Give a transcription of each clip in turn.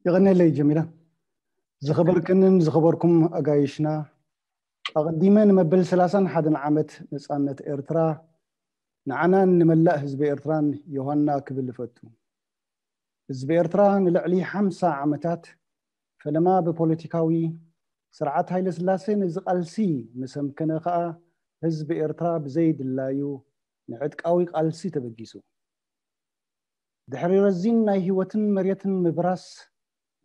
የቐነለይ ጀሚላ። ዝኸበርክንን ዝኸበርኩም ኣጋይሽና፣ ኣቐዲመ ንመበል ሰላሳን ሓደን ዓመት ነጻነት ኤርትራ ንዓናን ንመላእ ህዝቢ ኤርትራን ዮሃና ክብል እፈቱ። ህዝቢ ኤርትራ ንልዕሊ ሓምሳ ዓመታት ፈለማ ብፖለቲካዊ ስርዓት ሃይለ ስላሴ ነዚ ቃልሲ ምስ ኣምከነ ከኣ ህዝቢ ኤርትራ ብዘይ ድላዩ ንዕጥቃዊ ቃልሲ ተበጊሱ። ድሕሪ ረዚን ናይ ህይወትን መሬትን ምብራስ፣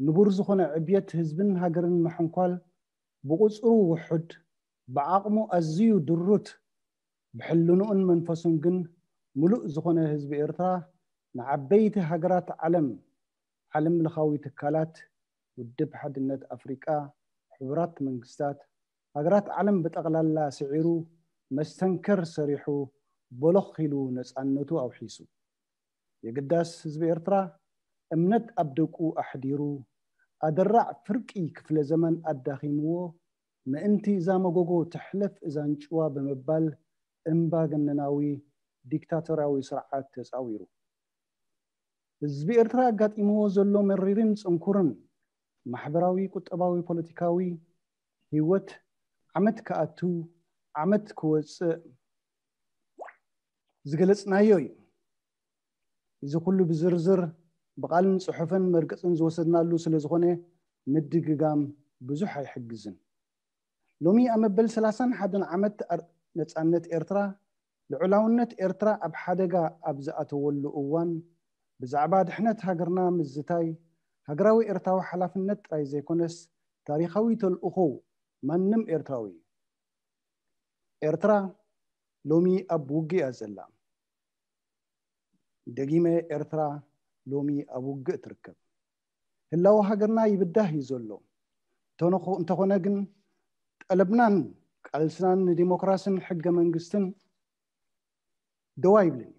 ንቡር ዝኾነ ዕብየት ህዝብን ሃገርን ምሕንኳል፣ ብቑጽሩ ውሑድ፣ ብዓቕሙ ኣዝዩ ድሩት፣ ብሕልንኡን መንፈሱን ግን ምሉእ ዝኾነ ህዝቢ ኤርትራ፣ ንዓበይቲ ሃገራት ዓለም፣ ዓለም ለኻዊ ትካላት፣ ውድብ ሓድነት ኣፍሪቃ፣ ሕቡራት መንግስታት፣ ሃገራት ዓለም ብጠቕላላ ስዒሩ፣ መስተንከር ሰሪሑ፣ ቦሎኽ ኢሉ ነጻነቱ ኣውሒሱ። የግዳስ ህዝቢ ኤርትራ እምነት ኣብ ደቁ ኣሕዲሩ፣ ኣደራዕ ፍርቂ ክፍለ ዘመን ኣዳኺምዎ፣ ምእንቲ እዛ መጎጎ ትሕለፍ እዛ ኣንጭዋ ብምባል እምባገነናዊ ዲክታቶርያዊ ስርዓት ተጻዊሩ። ህዝቢ ኤርትራ ኣጋጢምዎ ዘሎ መሪርን ጽንኩርን ማሕበራዊ፣ ቁጠባዊ፣ ፖለቲካዊ ህይወት ዓመት ክኣቱ ዓመት ክወጽእ ዝገለጽናዮ እዩ። እዚ ኩሉ ብዝርዝር ብቓልን ጽሑፍን መርገጽን ዝወሰድናሉ ስለ ዝኾነ ምድግጋም ብዙሕ ኣይሕግዝን። ሎሚ ኣብ መበል ሰላሳን ሓደን ዓመት ኣር-፣ ነጻነት ኤርትራ፣ ልዑላውነት ኤርትራ ኣብ ሓደጋ ኣብ ዝኣተወሉ እዋን፣ ብዛዕባ ድሕነት ሃገርና ምዝታይ ሃገራዊ ኤርትራዊ ሓላፍነት ጥራይ ዘይኮነስ ታሪኻዊ ተልእኾ ማንም ኤርትራዊ እዩ። ኤርትራ ሎሚ ኣብ ውግእ እያ ዘላ። ደጊመ፣ ኤርትራ ሎሚ ኣብ ውግእ ትርከብ። ህላወ ሃገርና ይብዳህ እዩ ዘሎ። እንተነኾ-፣ እንተኾነ ግን ጠለብናን ቃልስናን ንዲሞክራስን ሕገ መንግስትን ደው ኣይብልን እዩ።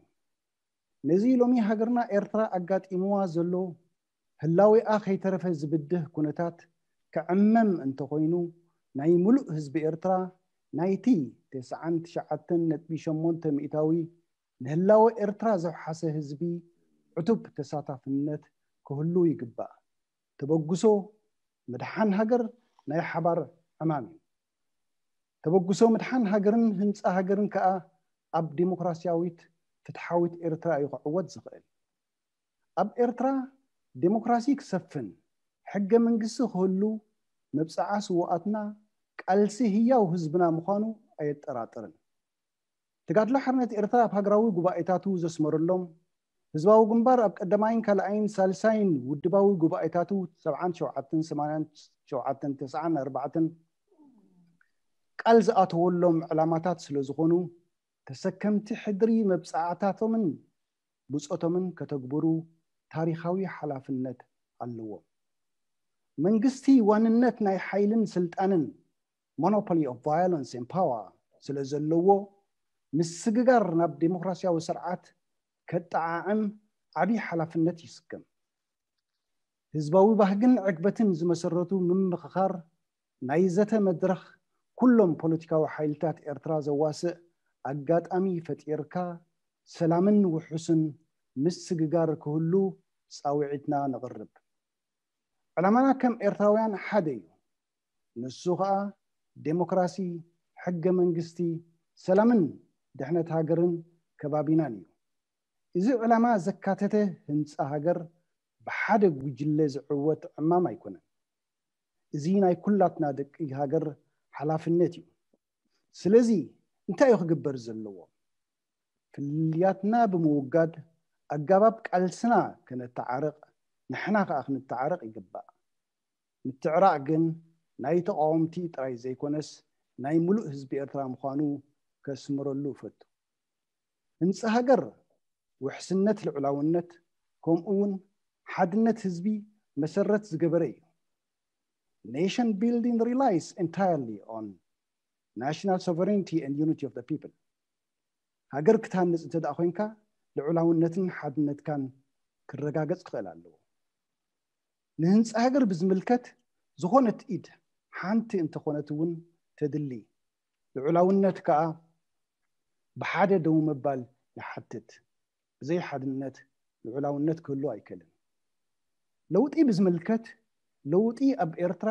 ነዚ ሎሚ ሃገርና ኤርትራ ኣጋጢምዋ ዘሎ ህላዌኣ ከይተረፈ ዝብድህ ኩነታት ክዕመም እንተኾይኑ፣ ናይ ምሉእ ህዝቢ ኤርትራ፣ ናይቲ ተስዓን ትሽዓተን ነጥቢ ሸሞንተ ሚእታዊ ንህላወ ኤርትራ ዘውሓሰ ህዝቢ ዕቱብ ተሳታፍነት ክህሉ ይግባእ። ተበግሶ ምድሓን ሃገር ናይ ሓባር ዕማም እዩ። ተበግሶ ምድሓን ሃገርን ህንጻ ሃገርን ከኣ ኣብ ዲሞክራስያዊት ፍትሓዊት ኤርትራ እዩ ክዕወት ዝኽእል። ኣብ ኤርትራ ዲሞክራሲ ክሰፍን ሕገ መንግስቲ ክህሉ መብጽዓ ስዉኣትና ቃልሲ ህያው ህዝብና ምዃኑ ኣየጠራጥርን። ተጋድሎ ሓርነት ኤርትራ ኣብ ሃገራዊ ጉባኤታቱ ዘስመረሎም፣ ህዝባዊ ግንባር ኣብ ቀዳማይን ካልኣይን ሳልሳይን ውድባዊ ጉባኤታቱ ሰብዓን ሸውዓተን፣ ሰማንያን ሸውዓተን፣ ተስዓን ኣርባዕተን ቃል ዝኣተወሎም ዕላማታት ስለ ዝኾኑ፣ ተሰከምቲ ሕድሪ መብጽዓታቶምን ብጾቶምን ከተግብሩ ታሪኻዊ ሓላፍነት ኣለዎም። መንግስቲ ዋንነት ናይ ሓይልን ስልጣንን፣ monopoly of violence and power፣ ስለ ዘለዎ፣ ምስግጋር ናብ ዲሞክራስያዊ ስርዓት ከጠዓዕም ዓቢ ሓላፍነት ይስከም። ህዝባዊ ባህግን ዕግበትን ዝመሰረቱ ምምኽኻር ናይ ዘተ መድረኽ፣ ኩሎም ፖለቲካዊ ሓይልታት ኤርትራ ዘዋስእ ኣጋጣሚ ፈጢርካ፣ ሰላምን ውሑስን ምስግጋር ክህሉ ጻውዒትና ነቕርብ። ዕላማና ከም ኤርትራውያን ሓደ እዩ። ንሱ ኸኣ ዴሞክራሲ፣ ሕገ መንግስቲ፣ ሰላምን ድሕነት ሃገርን ከባቢናን እዩ። እዚ ዕላማ ዘካተተ ህንጻ ሃገር ብሓደ ጉጅለ ዝዕወት ዕማም ኣይኮነን። እዚ ናይ ኩላትና ደቂ ሃገር ሓላፍነት እዩ። ስለዚ እንታይ እዩ ክግበር ዘለዎ? ፍልልያትና ብምውጋድ ኣገባብ ቃልስና ከነተዓርቕ፣ ንሕና ከኣ ክንተዓረቕ ይግባእ። ምትዕራቕ ግን ናይ ተቓወምቲ ጥራይ ዘይኮነስ ናይ ምሉእ ህዝቢ ኤርትራ ምዃኑ ከስምረሉ እፈቱ። ህንጻ ሃገር ውሕስነት ልዑላውነት ከምኡ እውን ሓድነት ህዝቢ መሰረት ዝገበረ እዩ። Nation building relies entirely on national sovereignty and unity of the people። ሃገር ክትሃንጽ እንተ ደኣ ኮይንካ ልዑላውነትን ሓድነትካን ክረጋገጽ ክኽእል ኣለዎ። ንህንጻ ሃገር ብዝምልከት ዝኾነት ኢድ ሓንቲ እንተኾነት እውን ተድሊ። ልዑላውነት ከኣ ብሓደ ደው ምባል ይሓትት። ብዘይ ሓድነት ልዑላውነት ክህሉ ኣይክእልን። ለውጢ ብዝምልከት፣ ለውጢ ኣብ ኤርትራ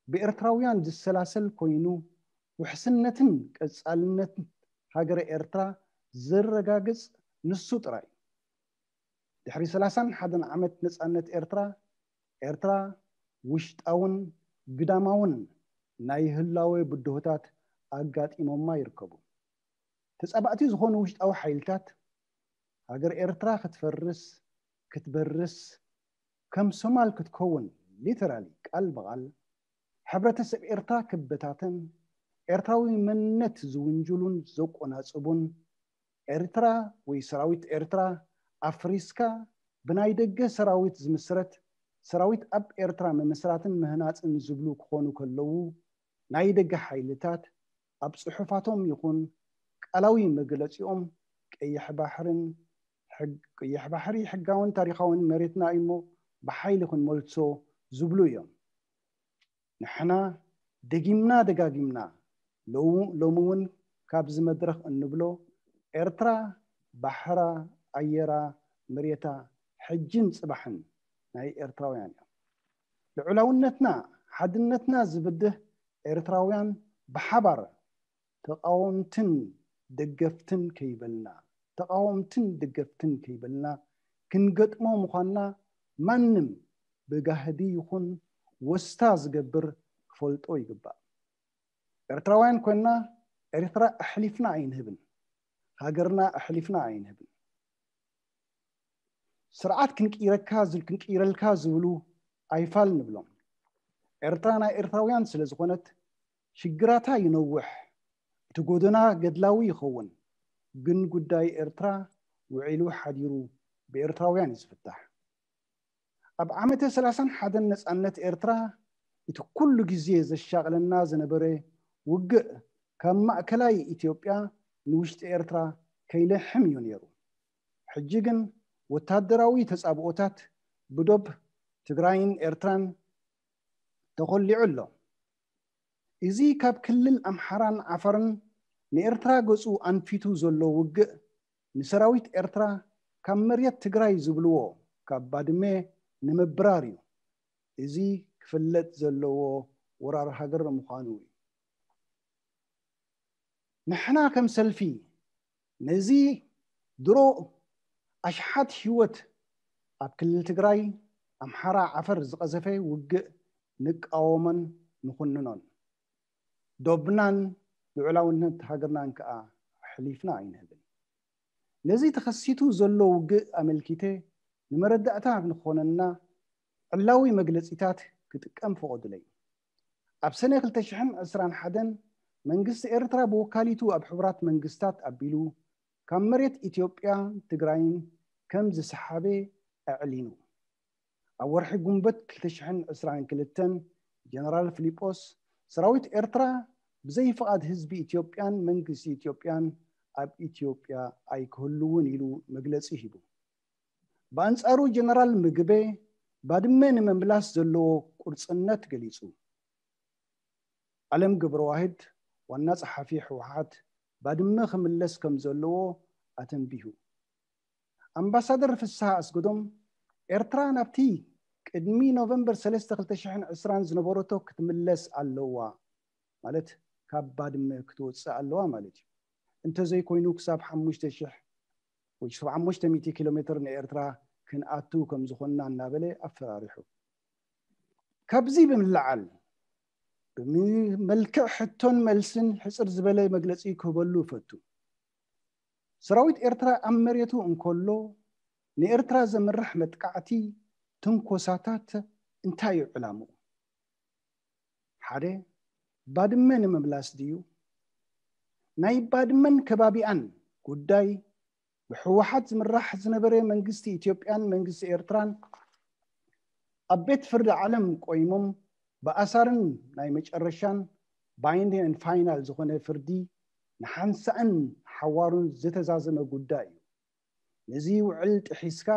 ብኤርትራውያን ዝሰላሰል ኮይኑ፣ ውሕስነትን ቀጻልነትን ሃገረ ኤርትራ ዘረጋግጽ ንሱ ጥራይ። ድሕሪ ሰላሳን ሓደን ዓመት ነጻነት ኤርትራ፣ ኤርትራ ውሽጣውን ግዳማውን ናይ ህላወ ብድሆታት ኣጋጢሞማ ይርከቡ። ተጻባእቲ ዝኾኑ ውሽጣዊ ሓይልታት፣ ሃገር ኤርትራ ክትፈርስ፣ ክትበርስ፣ ከም ሶማል ክትከውን፣ ሊተራሊ፣ ቃል ብቓል፣ ሕብረተሰብ ኤርትራ ክበታተን፣ ኤርትራዊ መንነት ዝውንጅሉን ዘቆናጽቡን፣ ኤርትራ ወይ ሰራዊት ኤርትራ ኣፍሪስካ ብናይ ደገ ሰራዊት ዝምስረት ሰራዊት ኣብ ኤርትራ ምምስራትን ምህናጽን ዝብሉ ክኾኑ ከለዉ፣ ናይ ደገ ሓይልታት ኣብ ጽሑፋቶም ይኹን ቃላዊ መግለጺኦም ቀይሕ ባሕርን ሕግ-፣ ቀይሕ ባሕሪ ሕጋውን ታሪኻውን መሬትና እዩ እሞ ብሓይሊ ክንመልሶ ዝብሉ እዮም። ንሕና ደጊምና ደጋጊምና ሎ-፣ ሎሚ እውን ካብዚ መድረኽ እንብሎ ኤርትራ ባሕራ፣ ኣየራ፣ መሬታ ሕጅን ጽባሕን ናይ ኤርትራውያን እዮም። ልዑላውነትና፣ ሓድነትና ዝብድህ ኤርትራውያን ብሓባር ተቓወምትን ደገፍትን ከይበልና፣ ተቓወምትን ደገፍትን ከይበልና ክንገጥሞ ምዃንና ማንም ብጋህዲ ይኹን ወስታ ዝገብር ክፈልጦ ይግባእ። ኤርትራውያን ኮይንና ኤርትራ ኣሕሊፍና ኣይንህብን። ሃገርና ኣሕሊፍና ኣይንህብን። ስርዓት ክንቅይረካ ዝብል፣ ክንቅይረልካ ዝብሉ ኣይፋል ንብሎም። ኤርትራ ናይ ኤርትራውያን ስለ ዝኾነት ሽግራታ ይነውሕ፣ እቲ ጎደና ገድላዊ ይኸውን። ግን ጉዳይ ኤርትራ ውዒሉ ሓዲሩ ብኤርትራውያን እዩ ዝፍታሕ። ኣብ ዓመተ ሰላሳን ሓደን ነጻነት ኤርትራ እቲ ኩሉ ግዜ ዘሻቕለና ዝነበረ ውግእ ካብ ማእከላይ ኢትዮጵያ ንውሽጢ ኤርትራ ከይለሕም እዩ ነይሩ። ሕጂ ግን ወታደራዊ ተጻብኦታት ብዶብ ትግራይን ኤርትራን ተኾሊዑ ኣሎ። እዚ ካብ ክልል ኣምሓራን ዓፈርን ንኤርትራ ገጹ ኣንፊቱ ዘሎ ውግእ ንሰራዊት ኤርትራ ካብ መሬት ትግራይ ዝብልዎ ካብ ባድመ ንምብራር እዩ። እዚ ክፍለጥ ዘለዎ ወራር ሃገር ምዃኑ እዩ። ንሕና ከም ሰልፊ ነዚ ድሮ ኣሽሓት ህይወት ኣብ ክልል ትግራይ፣ ኣምሓራ፣ ዓፈር ዝቐዘፈ ውግእ ንቃወሞን ንኹንኖን። ዶብናን ልዑላውነት ሃገርናን ከኣ ኣሕሊፍና ኣይንህብን። ነዚ ተኸሲቱ ዘሎ ውግእ ኣመልኪተ ንመረዳእታ ንኾነና ዕላዊ መግለጺታት ክጥቀም ፈቐዱለይ። ኣብ ሰነ ክልተ ሽሕን ዕስራን ሓደን መንግስቲ ኤርትራ ብወካሊቱ ኣብ ሕቡራት መንግስታት ኣቢሉ ካብ መሬት ኢትዮጵያን ትግራይን ከም ዝሰሓበ ኣዕሊኑ። ኣብ ወርሒ ጉንበት ክልተ ሽሕን ዕስራን ክልተን ጀነራል ፊሊጶስ ሰራዊት ኤርትራ ብዘይ ፍቓድ ህዝቢ ኢትዮጵያን መንግስቲ ኢትዮጵያን ኣብ ኢትዮጵያ ኣይክህልውን ኢሉ መግለጺ ሂቡ። ብኣንጻሩ ጀነራል ምግበ ባድመ ንምምላስ ዘለዎ ቁርጽነት ገሊጹ። ኣለም ገብረዋህድ ዋና ጸሓፊ ህወሓት ባድመ ክምለስ ከም ዘለዎ ኣተንቢሁ። ኣምባሳደር ፍስሃ ኣስገዶም ኤርትራ ናብቲ ቅድሚ ኖቨምበር ሰለስተ ክልተ ሽሕን ዕስራን ዝነበረቶ ክትምለስ ኣለዋ፣ ማለት ካብ ባድመ ክትወጽእ ኣለዋ ማለት እዩ። እንተዘይኮይኑ ክሳብ ሓሙሽተ ሽሕ ወይ ሰብዓ ሓሙሽተ ሚእቲ ኪሎ ሜትር ንኤርትራ ክንኣቱ ከም ዝኾንና እናበለ ኣፈራሪሑ። ካብዚ ብምልዓል ብመልክዕ ሕቶን መልስን ሕጽር ዝበለ መግለጺ ክህበሉ እፈቱ። ሰራዊት ኤርትራ ኣብ መሬቱ እንከሎ ንኤርትራ ዘምርሕ መጥቃዕቲ፣ ትንኮሳታት እንታይ እዩ ዕላምኡ? ሓደ፣ ባድመ ንምምላስ ድዩ? ናይ ባድመን ከባቢኣን ጉዳይ ብህወሓት ዝምራሕ ዝነበረ መንግስቲ ኢትዮጵያን መንግስቲ ኤርትራን ኣብ ቤት ፍርዲ ዓለም ቆይሞም ብኣሳርን ናይ መጨረሻን ባይንዲንግ ፋይናል ዝኾነ ፍርዲ ንሓንሳእን ሓዋሩን ዝተዛዘመ ጉዳይ እዩ። ነዚ ውዕል ጥሒስካ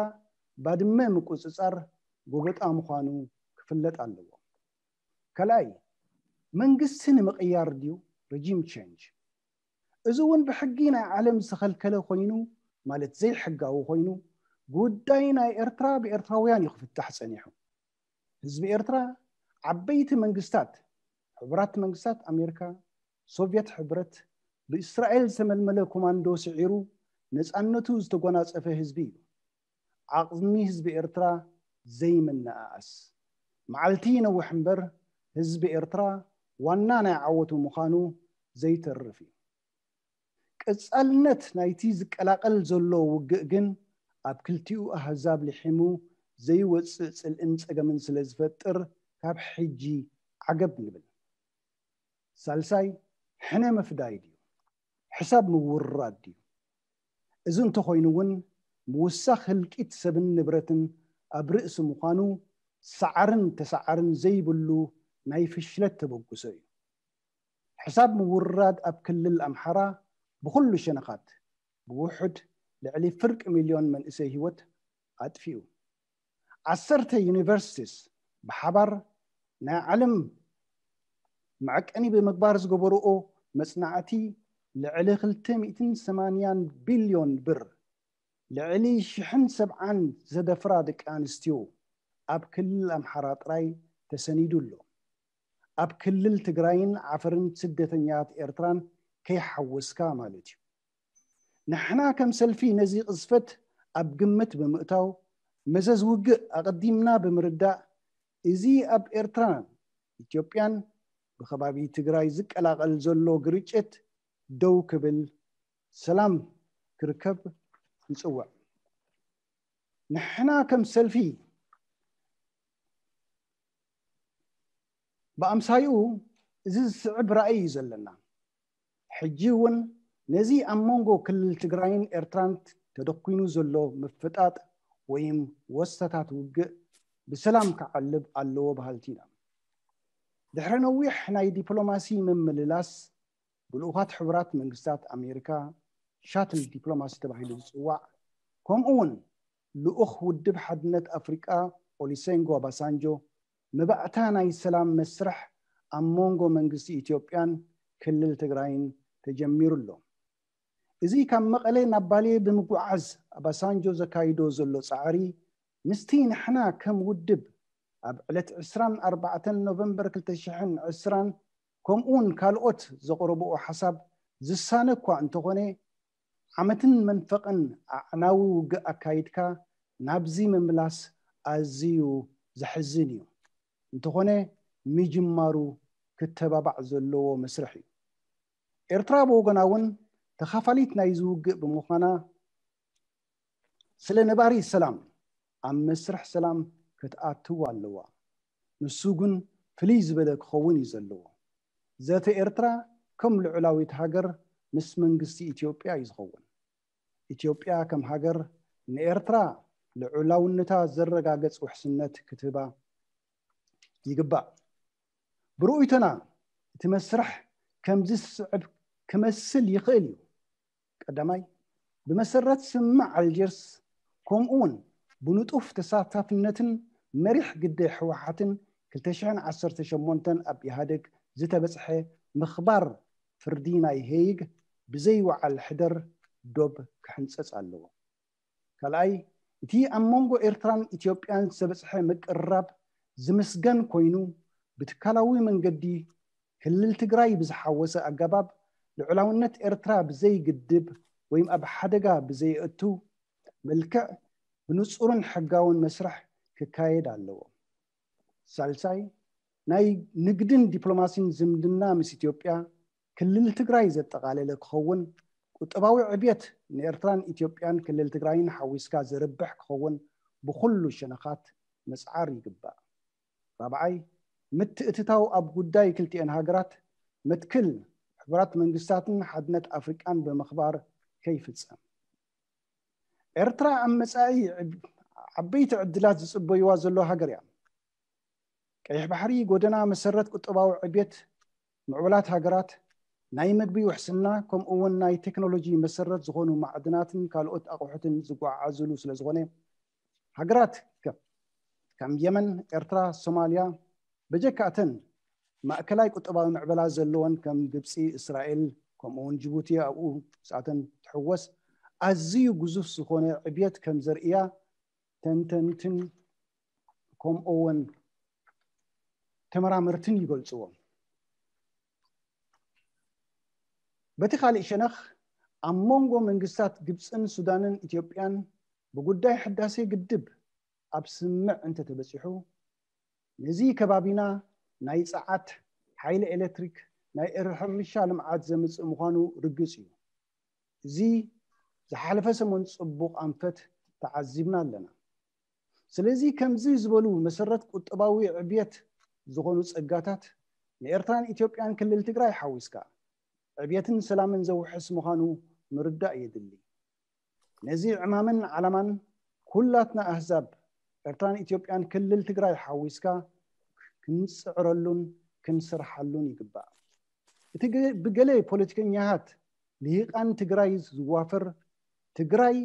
ባድመ ምቁጽጻር ጎበጣ ምዃኑ ክፍለጥ ኣለዎ። ካልኣይ፣ መንግስቲ ንምቕያር ድዩ? ሪጂም ቼንጅ። እዚ እውን ብሕጊ ናይ ዓለም ዝተኸልከለ ኮይኑ፣ ማለት ዘይሕጋዊ ኮይኑ፣ ጉዳይ ናይ ኤርትራ ብኤርትራውያን እዩ ክፍታሕ ጸኒሑ። ህዝቢ ኤርትራ ዓበይቲ መንግስታት፣ ሕቡራት መንግስታት ኣሜሪካ፣ ሶቪየት ሕብረት፣ ብእስራኤል ዝተመልመለ ኮማንዶ ስዒሩ ነፃነቱ ዝተጎናፀፈ ህዝቢ እዩ። ዓቕሚ ህዝቢ ኤርትራ ዘይምንኣኣስ። መዓልቲ ይነውሕ እምበር ህዝቢ ኤርትራ ዋና ናይ ዓወቱ ምዃኑ ዘይተርፍ እዩ። ቀጻልነት ናይቲ ዝቀላቐል ዘሎ ውግእ ግን ኣብ ክልቲኡ ኣህዛብ ልሒሙ ዘይወጽእ ጽልእን ጸገምን ስለ ዝፈጥር ካብ ሕጂ ዓገብ ንብል። ሳልሳይ፣ ሕነ ምፍዳይ ድዩ? ሕሳብ ምውርራድ ድዩ? እዚ እንተኾይኑ እውን ምውሳኽ ህልቂት ሰብን ንብረትን ኣብ ርእሲ ምዃኑ ሰዓርን ተሰዓርን ዘይብሉ ናይ ፍሽለት ተበግሶ እዩ። ሕሳብ ምውርራድ ኣብ ክልል ኣምሓራ ብኹሉ ሸነኻት ብውሑድ ልዕሊ ፍርቂ ሚልዮን መንእሰይ ህይወት ኣጥፊኡ። ዓሰርተ ዩኒቨርሲቲስ ብሓባር ናይ ዓለም መዐቀኒ ብምግባር ዝገበርኦ መጽናዕቲ ልዕሊ ክልተ ሚእትን ሰማንያን ቢልዮን ብር፣ ልዕሊ ሽሕን ሰብዓን ዘደፍራ ደቂ ኣንስትዮ ኣብ ክልል ኣምሓራ ጥራይ ተሰኒዱ ኣሎ። ኣብ ክልል ትግራይን ዓፈርን ስደተኛታት ኤርትራን ከይሓወስካ ማለት እዩ። ንሕና ከም ሰልፊ ነዚ ቅዝፈት ኣብ ግምት ብምእታው መዘዝ ውግእ ኣቐዲምና ብምርዳእ እዚ ኣብ ኤርትራን ኢትዮጵያን ብከባቢ ትግራይ ዝቀላቐል ዘሎ ግርጭት ደው ክብል ሰላም ክርከብ ንጽውዕ። ንሕና ከም ሰልፊ ብኣምሳይኡ እዚ ዝስዕብ ራእይ እዩ ዘለና። ሕጂ እውን ነዚ ኣብ መንጎ ክልል ትግራይን ኤርትራን ተደኲኑ ዘሎ ምፍጣጥ ወይም ወሰታት ውግእ ብሰላም ክዓልብ ኣለዎ በሃልቲ ኢና። ድሕሪ ነዊሕ ናይ ዲፕሎማሲ ምምልላስ ብልኡኻት ሕቡራት መንግስታት ኣሜሪካ ሻትል ዲፕሎማሲ ተባሂሉ ዝፅዋዕ ከምኡ እውን ልኡኽ ውድብ ሓድነት ኣፍሪቃ ኦሊሴንጎ ኣባሳንጆ መባእታ ናይ ሰላም መስርሕ ኣብ መንጎ መንግስቲ ኢትዮጵያን ክልል ትግራይን ተጀሚሩ ኣሎ። እዚ ካብ መቐለ ናብ ባሌ ብምጉዓዝ ኣባሳንጆ ዘካይዶ ዘሎ ፃዕሪ ምስቲ ንሕና ከም ውድብ ኣብ ዕለት ዕስራን ኣርባዕተን ኖቨምበር ክልተ ሽሕን ዕስራን ከምኡውን ካልኦት ዘቕረብኦ ሓሳብ ዝሳነ እኳ እንተኾነ ዓመትን መንፈቕን ኣዕናዊ ውግእ ኣካይድካ ናብዚ ምምላስ ኣዝዩ ዘሕዝን እዩ። እንተኾነ ምጅማሩ ክተባባዕ ዘለዎ መስርሕ እዩ። ኤርትራ ብወገና እውን ተኻፋሊት ናይዚ ውግእ ብምዃና ስለ ነባሪ ሰላም ኣብ መስርሕ ሰላም ክትኣትው ኣለዋ። ንሱ ግን ፍልይ ዝበለ ክኸውን እዩ ዘለዎ። ዘተ ኤርትራ ከም ልዑላዊት ሃገር ምስ መንግስቲ ኢትዮጵያ እዩ ዝኸውን። ኢትዮጵያ ከም ሃገር ንኤርትራ ልዑላውነታ ዘረጋገጽ ውሕስነት ክትህባ ይግባእ። ብርእይቶና እቲ መስርሕ ከምዚ ዝስዕብ ክመስል ይኽእል እዩ። ቀዳማይ፣ ብመሰረት ስምምዕ ኣልጀርስ ከምኡ እውን ብንጡፍ ተሳታፍነትን መሪሕ ግደ ህወሓትን ክልተ ሽሕን ዓሰርተ ሸሞንተን ኣብ ኢህኣደግ ዝተበፅሐ ምኽባር ፍርዲ ናይ ሄይግ ብዘይ ወዓል ሕደር ዶብ ክሕንፀፅ ኣለዎ። ካልኣይ፣ እቲ ኣብ መንጎ ኤርትራን ኢትዮጵያን ዝተበፅሐ ምቅርራብ ዝምስገን ኮይኑ ብትካላዊ መንገዲ ክልል ትግራይ ብዝሓወሰ ኣገባብ ልዑላውነት ኤርትራ ብዘይግድብ ወይም ኣብ ሓደጋ ብዘየእቱ መልክዕ ብንጹርን ሕጋውን መስርሕ ክካየድ ኣለዎ። ሳልሳይ፣ ናይ ንግድን ዲፕሎማሲን ዝምድና ምስ ኢትዮጵያ ክልል ትግራይ ዘጠቓለለ ክኸውን፣ ቁጠባዊ ዕብየት ንኤርትራን ኢትዮጵያን ክልል ትግራይን ሓዊስካ ዘርብሕ ክኸውን ብኹሉ ሸነኻት ምጽዓር ይግባእ። ራብዓይ፣ ምትእትታው ኣብ ጉዳይ ክልቲኤን ሃገራት መትክል ሕቡራት መንግስታትን ሓድነት ኣፍሪቃን ብምኽባር ከይፍጸም። ኤርትራ ኣብ መጻኢ ዓበይቲ ዕድላት ዝጽበይዋ ዘሎ ሃገር እያ። ቀይሕ ባሕሪ ጎደና መሰረት ቁጠባዊ ዕብየት ምዕቡላት ሃገራት፣ ናይ መግቢ ውሕስና፣ ከምኡ እውን ናይ ቴክኖሎጂ መሰረት ዝኾኑ ማዕድናትን ካልኦት ኣቑሑትን ዝጓዓዓዝሉ ስለ ዝኾነ፣ ሃገራት ከ-፣ ከም የመን፣ ኤርትራ፣ ሶማልያ፣ በጀካ እተን ማእከላይ ቁጠባዊ ምዕበላ ዘለወን ከም ግብጺ፣ እስራኤል፣ ከምኡ እውን ጅቡቲ ኣብኡ ምስኣተን ትሕወስ፣ ኣዝዩ ግዙፍ ዝኾነ ዕብየት ከም ዘርእያ ተንተንትን ከምኡ እውን ተመራመርትን ይገልፅዎም። በቲ ካልእ ሸነኽ ኣብ መንጎ መንግስታት ግብፅን ሱዳንን ኢትዮጵያን ብጉዳይ ሕዳሴ ግድብ ኣብ ስምምዕ እንተተበፂሑ ነዚ ከባቢና ናይ ፀዓት ሓይሊ ኤሌክትሪክ ናይ ሕርሻ ልምዓት ዘምፅእ ምዃኑ ርግፅ እዩ። እዚ ዝሓለፈ ሰሙን ፅቡቕ ኣንፈት ተዓዚብና ኣለና። ስለዚ ከምዚ ዝበሉ መሰረት ቁጠባዊ ዕብየት ዝኾኑ ፀጋታት ንኤርትራን ኢትዮጵያን ክልል ትግራይ ሓዊስካ ዕብየትን ሰላምን ዘውሕስ ምዃኑ ምርዳእ የድሊ። ነዚ ዕማምን ዓላማን ኩላትና ኣህዛብ ኤርትራን ኢትዮጵያን ክልል ትግራይ ሓዊስካ ክንፅዕረሉን ክንሰርሓሉን ይግባእ። እቲ ብገለ ፖለቲከኛታት ልሂቃን ትግራይ ዝዋፈር ትግራይ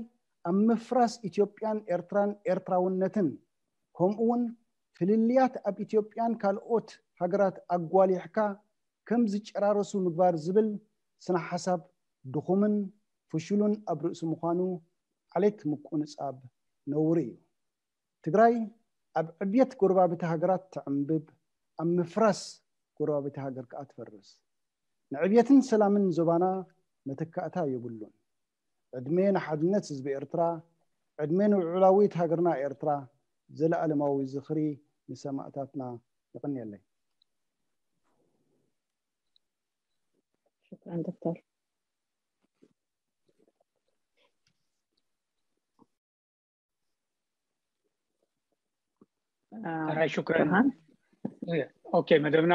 ኣብ ምፍራስ ኢትዮጵያን ኤርትራን ኤርትራውነትን ከምኡ እውን ፍልልያት ኣብ ኢትዮጵያን ካልኦት ሃገራት ኣጓሊሕካ ከም ዝጨራረሱ ምግባር ዝብል ስነ ሓሳብ ድኹምን ፍሹልን ኣብ ርእሲ ምዃኑ ዓሌት ምቁንጻብ ነውሪ እዩ። ትግራይ ኣብ ዕብየት ጎረባብቲ ሃገራት ትዕንብብ፣ ኣብ ምፍራስ ጎረባብቲ ሃገር ከኣ ትፈርስ። ንዕብየትን ሰላምን ዞባና መተካእታ የብሉን። ዕድመ ንሓድነት ህዝቢ ኤርትራ፣ ዕድመ ንልዑላዊት ሃገርና ኤርትራ፣ ዘለኣለማዊ ዝኽሪ ንሰማእታትና። የቐንየለይ። شكرا دكتور. ሕራይ ሽኩረን። ኦኬ፣ መደብና